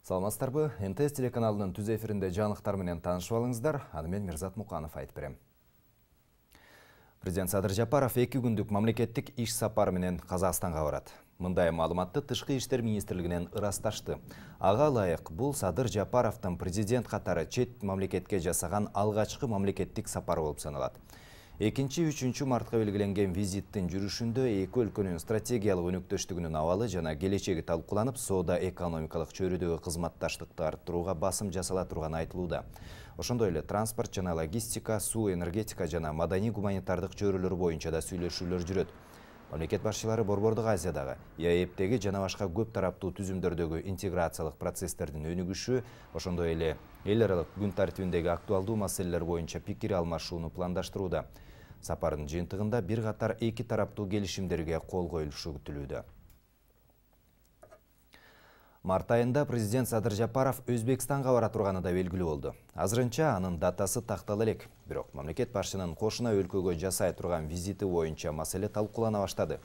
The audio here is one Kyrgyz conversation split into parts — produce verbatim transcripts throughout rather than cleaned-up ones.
Саламатсыздарбы? эн тэ эс телеканалынын түз эфиринде жаңылыктар менен таанышып алыңыздар. Аны мен Мирзат Муканов айтып берем. Президент Садыр Жапаров эки күндүк мамлекеттик иш сапары менен Казакстанга барат. Мындай маалыматты Тышкы иштер министрлигинен ырасташты. Ага ылайык, бул Садыр Жапаровдун президент катары чет мамлекетке жасаган алгачкы мамлекеттик сапары болуп саналат. экинчи үчүнчү мартка белгиленген визиттин жүрүшүндө эки өлкөнүн стратегиялык өнөктөштүгүнүн абалы жана келечеги талкууланып, соода экономикалык чөйрөдөгү кызматташтыкты арттырууга басым жасала турганы айтылууда. Ошондой эле транспорт жана логистика, суу, энергетика жана маданий гуманитардык чөйрөлөр боюнча да сүйлөшүүлөр жүрөт. Мамлекет башчылары Борбордук Азиядагы, е а эптеги жана башка көп тараптуу түзүмдөрдөгү интеграциялык процесстердин өнүгүшү, ошондой эле эл аралык күн тартибиндеги актуалдуу маселелер боюнча пикир алмашууну пландаштырууда. Сапардын жыйынтыгында бир катар эки тараптуу келишимдерге кол коюлушу күтүлүүдө. Март айында президент Садыр Жапаров Өзбекстанга бара турганы да белгилүү болду. Азырынча анын датасы тактала элек, бирок мамлекет башчынын кошуна өлкөгө жасай турган визити боюнча маселе талкуулана баштады.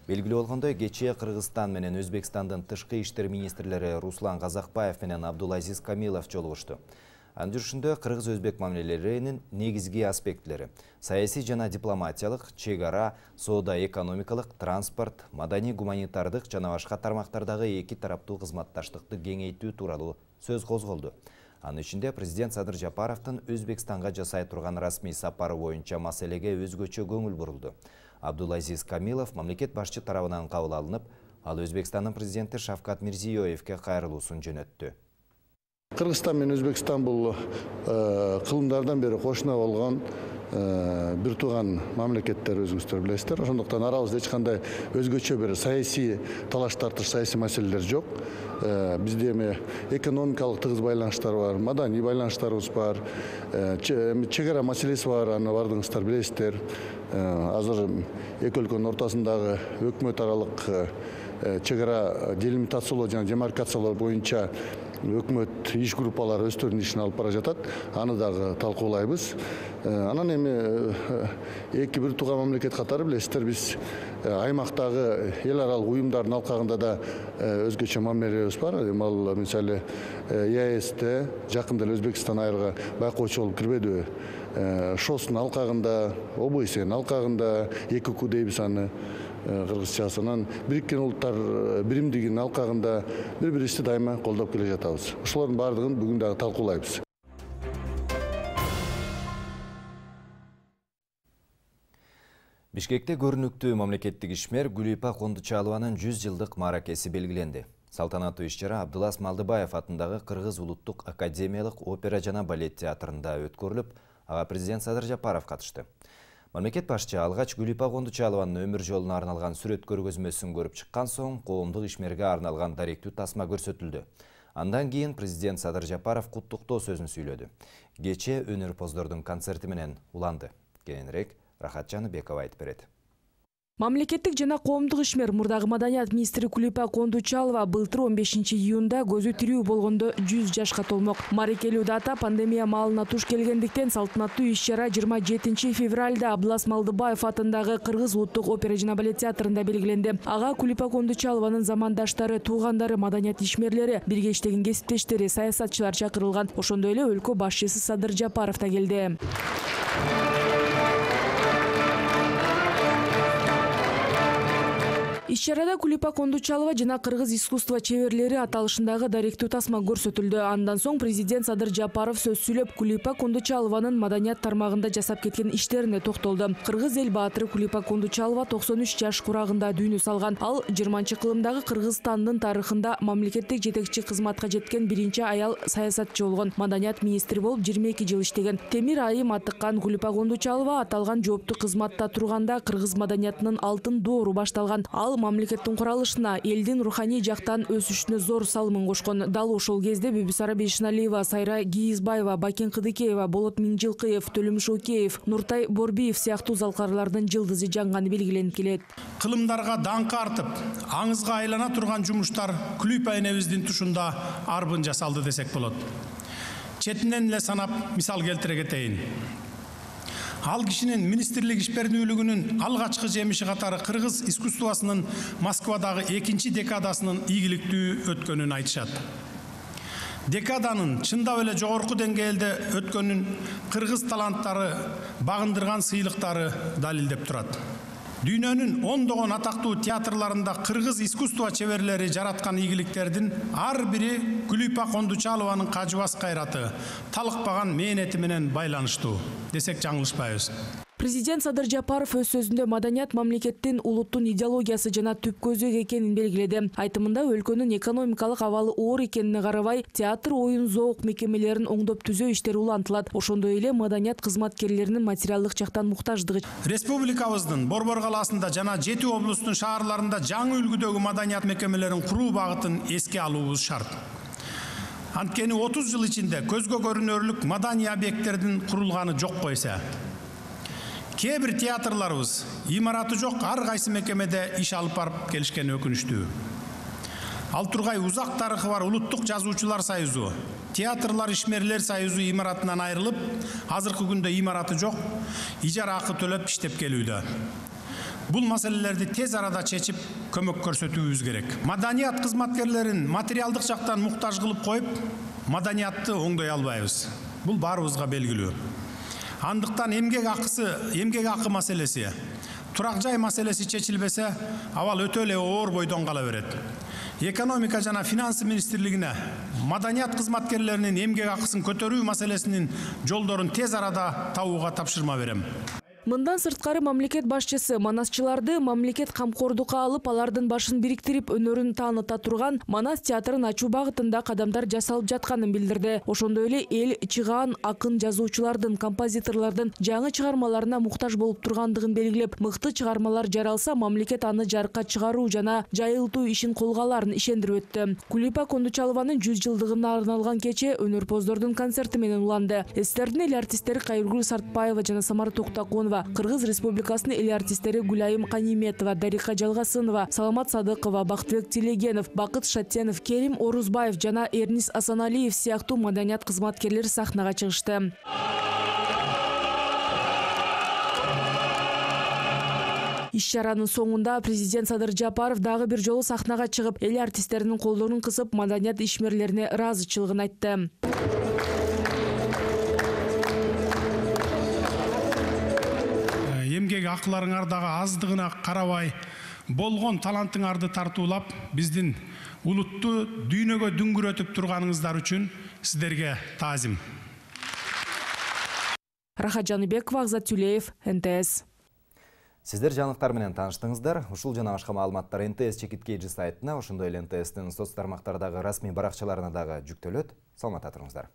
Белгилүү болгондой, кечээ Кыргызстан менен Өзбекстандын тышкы иштер министрлери Руслан Казакбаев менен Абдулазиз Камилов жолугушту. Анын жүрүшүндө кыргыз-өзбек мамилелеринин негизги аспекттери — саясий жана дипломатиялык, чек ара, соода экономикалык, транспорт, маданий гуманитардык жана башка тармактардагы эки тараптуу кызматташтыкты кеңейтүү тууралуу сөз козголду. Анын ичинде президент Садыр Жапаровдун Өзбекстанга жасай турган расмий сапары боюнча маселеге өзгөчө көңүл бурулду. Абдулазиз Камилов мамлекет башчы тарабынан кабыл алынып, ал Өзбекстандын президенти Шавкат Мирзиёевке кайрылуусун жөнөттү. Кыргызстан менен Өзбекстан бул кылымдардан бери кошуна болгон бир тууган мамлекеттер, өзүңүздөр билесиздер. Ошондуктан арабызда эч кандай өзгөчө бир саясий талаш тартыш, саясий маселелер жок. Бизде эми экономикалык тыгыз байланыштар бар, маданий байланыштарыбыз бар, чек ара маселеси бар, аны бардыгыңыздар билесиздер. Азыр эки өлкөнүн ортосундагы өкмөт аралык чек ара делимитациялоо жана демаркациялоо боюнча өкмөт иш группалары өздөрүнүн ишин алып бара жатат. Аны дагы талкуулайбыз. Анан эми эки бир тууган мамлекет катары билесиздер, биз аймактагы эл аралык уюмдардын алкагында да өзгөчө мамилебиз бар. Ал мисалы е а эсте жакында эле Өзбекстан айрга байкоочу болуп кирбедиби? шостун алкагында, о бэ эсенин алкагында, эки ку дейбиз аны кыргызчасынан, Бириккен Улуттар биримдигинин алкагында бири-бирибизди дайыма колдоп келе жатабыз. Ошолордун баардыгын бүгүн дагы талкуулайбыз. Бишкекте көрүнүктүү мамлекеттик ишмер Гүлипа Кондучалованын жүз жылдык мааракеси белгиленди. Салтанаттуу иш-чара Абдулас Малдыбаев атындагы Кыргыз улуттук академиялык опера жана балет театрында өткөрүлүп, ага президент Садыр Жапаров катышты. Мамлекет башчы алгач Гүлипа Кондучалованын өмүр жолуна арналган сүрөт көргөзмөсүн көрүп чыккан соң, коомдук ишмерге арналган даректүү тасма көрсөтүлдү. Андан кийин президент Садыр Жапаров куттуктоо сөзүн сүйлөдү. Кечээ өнөрпоздордун концерти менен уланды. Кийинирээк Рахат Жаныбекова айтып берет. Мамлекеттик жана коомдук ишмер мурдагы маданият министри Гүлипа Кондучалова былтыр он бешинчи июнда көзү тирүү болгондо жүз жашка толмок. Марекелүү дата пандемия маалына туш келгендиктен салтанаттуу иш-чара жыйырма жетинчи февралда Абдулас Малдыбаев атындагы Кыргыз улуттук опера жана балет театрында белгиленди. Ага Гүлипа Кондучалованын замандаштары, туугандары, маданият ишмерлери, бирге иштеген кесиптештери, саясатчылар чакырылган. Ошондой эле өлкө башчысы Садыр Жапаров да келди. Иш-чарада Гүлипа Кондучалова жана кыргыз искусство чеберлери аталышындагы даректүү тасма көрсөтүлдү. Андан соң президент Садыр Жапаров сөз сүйлөп, Гүлипа Кондучалованын маданият тармагында жасап кеткен иштерине токтолду. Кыргыз эл баатыры Гүлипа Кондучалова токсон үч жаш курагында дүйнө салган. Ал жыйырманчы кылымдагы Кыргызстандын тарыхында мамлекеттик жетекчи кызматка жеткен биринчи аял саясатчы болгон. Маданият министри болуп жыйырма эки жыл иштеген. Темир айым атыккан Гүлипа Кондучалова аталган жооптуу кызматта турганда кыргыз маданиятынын алтын доору башталган. Ал мамлекеттин куралышына, элдин руханий жактан өсүшүнө зор салымын кошкон. Дал ошол кезде Бибисара Бейшеналиева, Сайра Гийизбаева, Бакен Кыдыкеева, Болот Миңжилкыев, Төлөм Шокеев, Нуртай Борбиев сыяктуу залкарлардын жылдызы жанганы белгиленип келет. Кылымдарга даңкы артып, аңызга айлана турган жумуштар Гүлипа энебиздин тушунда арбын жасалды десек болот. Четинен эле санап мисал келтире кетейин. Ал кишинин министрлик ишбердүүлүгүнүн алгачкы жемиши катары кыргыз искусствосунун Москвадагы экинчи декадасынын ийгиликтүү өткөнүн айтышат. декаданын чындап эле жогорку деңгээлде өткөнүн кыргыз таланттары багындырган сыйлыктары далилдеп турат. Дүйнөнүн ондогон атактуу театрларында кыргыз искусство чеберлери жараткан ийгиликтердин ар бири Күлүпа Кондучалованын кажыбас кайраты, талыкпаган мээнети менен байланыштуу десек жаңылышпайбыз. Президент Садыр Жапаров өз сөзүндө маданият мамлекеттин улуттун идеологиясы жана түп көзү экенин белгиледи. Айтымында өлкөнүн экономикалык абалы оор экенине карабай, театр, оюн, зоок мекемелерин оңдоп түзөө иштери улантылат. Ошондой эле маданият кызматкерлеринин материалдык жактан муктаждыгы. Республикабыздын Борбор калаасында жана жети облустун шаарларында жаңы үлгүдөгү маданият мекемелерин куруу багытын эске алуубуз шарт. Анткени отуз жыл ичинде көзгө көрүнөрлүк маданий объекттердин курулганы жокко эсе. Кээ бир театрларыбыз имараты жок ар кайсы мекемеде иш алып барып келишкени өкүнүчтүү. Ал тургай узак тарыхы бар Улуттук жазуучулар союзу, театрлар ишмерлер союзу имаратынан айрылып, азыркы күндө имараты жок, ижара акы төлөп иштеп келүүдө. Бул маселелерди тез арада чечип, көмөк көрсөтүүбүз керек. Маданият кызматкерлерин материалдык жактан муктаж кылып коюп, маданиятты оңдой албайбыз. Бул баарыбызга белгилүү. Андыктан эмгек акысы, эмгек акы маселеси, турак жай маселеси чечилбесе, абал өтө эле оор бойдон кала берет. Экономика жана финансы министрлигине маданият кызматкерлеринин эмгек акысын көтөрүү маселесинин жолдорун тез арада табууга тапшырма берем. Мындан сырткары мамлекет башчысы манасчыларды мамлекет камкордукка алып, алардын башын бириктирип, өнөрүн тааныта турган Манас театрын ачуу багытында кадамдар жасалып жатканын билдирди. Ошондой эле эл чыгаан акын жазуучулардын, композиторлордун жаңы чыгармаларына муктаж болуп тургандыгын белгилеп, мыкты чыгармалар жаралса, мамлекет аны жарыкка чыгаруу жана жайылтуу ишин колго аларын ишендирип өттү. Күлүпа Кондучалованын жүз жылдыгына арналган кече өнөрпоздордун концерти менен уланды. Эстердин эл артисттери Кайыргүл Сартбаева жана Самара Токтоконова, Кыргыз Республикасынын эл артисттери Гүлайым Каниметова, Дарика Жалгасынова, Саламат Садыкова, Бактыбек Телегенов, Бакыт Шатенов, Керим Орузбаев жана Эрнис Асаналиев сыяктуу маданият кызматкерлери сахнага чыгышты. Иш-чаранын соңунда президент Садыр Жапаров дагы бир жолу сахнага чыгып, эл артисттеринин колдорун кысып, маданият ишмерлерине ыраазычылыгын айтты. Эмгек акыларыңардагы аздыгына карабай, болгон талантыңарды тартуулап, биздин улутту дүйнөгө дүңгүрөтүп турганыңыздар үчүн сиздерге таазим. Рахат Жаныбекова, Акзат Тюлеев, эн тэ эс. Сиздер жаңылыктар менен тааныштыңыздар. Ушул жана башка маалыматтар эн тэ эс чекиткейжи сайтына, ошондой эле эн тэ эстин соц тармактардагы расмий баракчаларына дагы жүктөлөт. Саламатта туруңуздар.